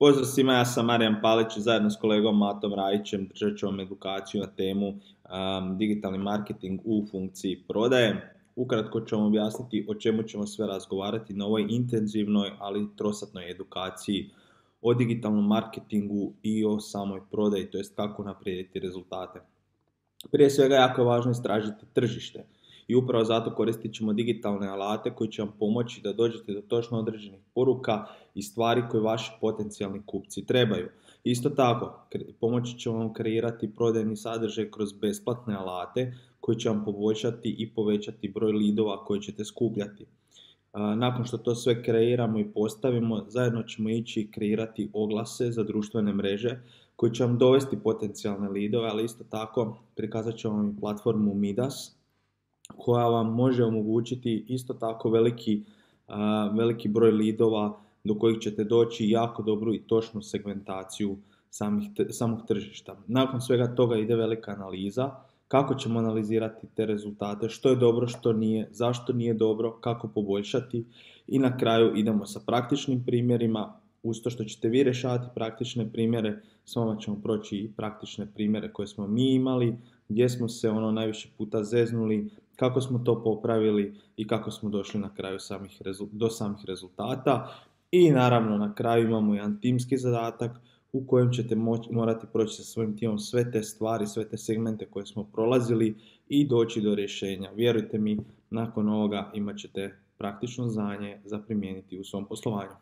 Pozdrav svima, ja sam Marijan Palić i zajedno s kolegom Matom Rajićem držat ću vam edukaciju na temu digitalni marketing u funkciji prodaje. Ukratko ću vam objasniti o čemu ćemo sve razgovarati na ovoj intenzivnoj, ali trosatnoj edukaciji o digitalnom marketingu i o samoj prodaji, to jest kako naprijediti rezultate. Prije svega jako je važno istražiti tržište i upravo zato koristit ćemo digitalne alate koji će vam pomoći da dođete do točno određenih poruka i stvari koje vaši potencijalni kupci trebaju. Isto tako, pomoći će vam kreirati prodajni sadržaj kroz besplatne alate koji će vam poboljšati i povećati broj lidova koje ćete skupljati. Nakon što to sve kreiramo i postavimo, zajedno ćemo ići kreirati oglase za društvene mreže koji će vam dovesti potencijalne lidove, ali isto tako prikazat ćemo vam i platformu Midas koja vam može omogućiti isto tako veliki broj lidova do kojih ćete doći jako dobru i točnu segmentaciju samog tržišta. Nakon svega toga ide velika analiza, kako ćemo analizirati te rezultate, što je dobro, što nije, zašto nije dobro, kako poboljšati i na kraju idemo sa praktičnim primjerima. Uz to što ćete vi rješavati praktične primjere, s vama ćemo proći i praktične primjere koje smo mi imali, gdje smo se najviše puta zeznuli, kako smo to popravili i kako smo došli na kraju do samih rezultata. I naravno na kraju imamo jedan timski zadatak u kojem ćete morati proći sa svojim timom sve te stvari, sve te segmente koje smo prolazili i doći do rješenja. Vjerujte mi, nakon ovoga imat ćete praktično znanje za primijeniti u svom poslovanju.